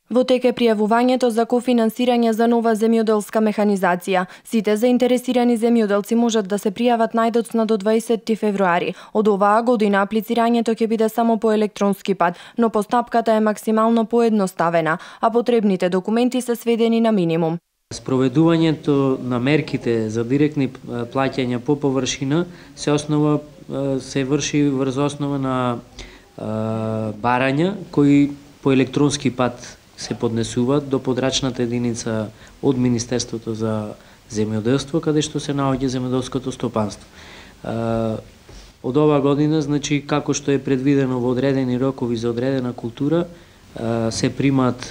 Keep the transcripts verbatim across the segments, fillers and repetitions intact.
Во тек е пријавувањето за кофинансирање за нова земјоделска механизација. Сите заинтересирани земјоделци можат да се пријават најдоцна до дваесетти февруари. Од оваа година аплицирањето ќе биде само по електронски пат, но постапката е максимално поедноставена, а потребните документи се сведени на минимум. Спроведувањето на мерките за директни плаќања по површина се основа се врши врз основа на барања кои по електронски пат се поднесуваат до подрачната единица од Министерството за земјоделство, каде што се наоѓа земјоделското стопанство. Од оваа година, значи, како што е предвидено во одредени рокови за одредена култура, се примаат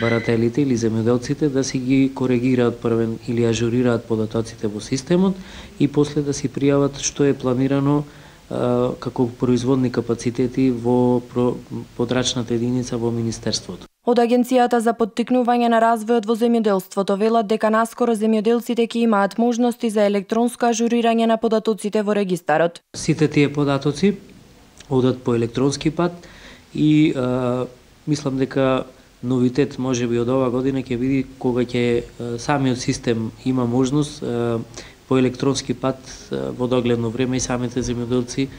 барателите или земјоделците да си ги коригираат првен или ажурираат податоците во системот и после да си пријават што е планирано како производни капацитети во подрачната единица во Министерството. Од Агенцијата за поттикнување на развојот во земјоделството велат дека наскоро земјоделците ќе имаат можности за електронско ажурирање на податоците во регистарот. Сите тие податоци одат по електронски пат и а, мислам дека новитет можеби од оваа година ќе биде кога ќе самиот систем има можност а, по електронски пат а, во догледно време и самите земјоделци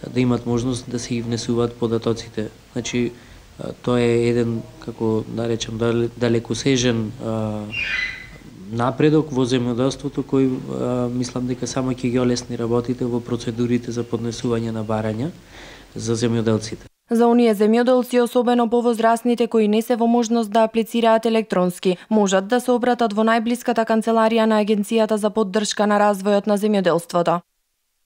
да имат можност да се ги внесуваат податоците. Значи тоа е еден, како да речем, далекосежен а, напредок во земјоделството кој а, мислам дека само ќе ги олесни работите во процедурите за поднесување на барања за земјоделците. За оние земјоделци, особено повозрасните кои не се во можност да аплицираат електронски, можат да се обратат во најблиската канцеларија на Агенцијата за поддршка на развојот на земјоделството.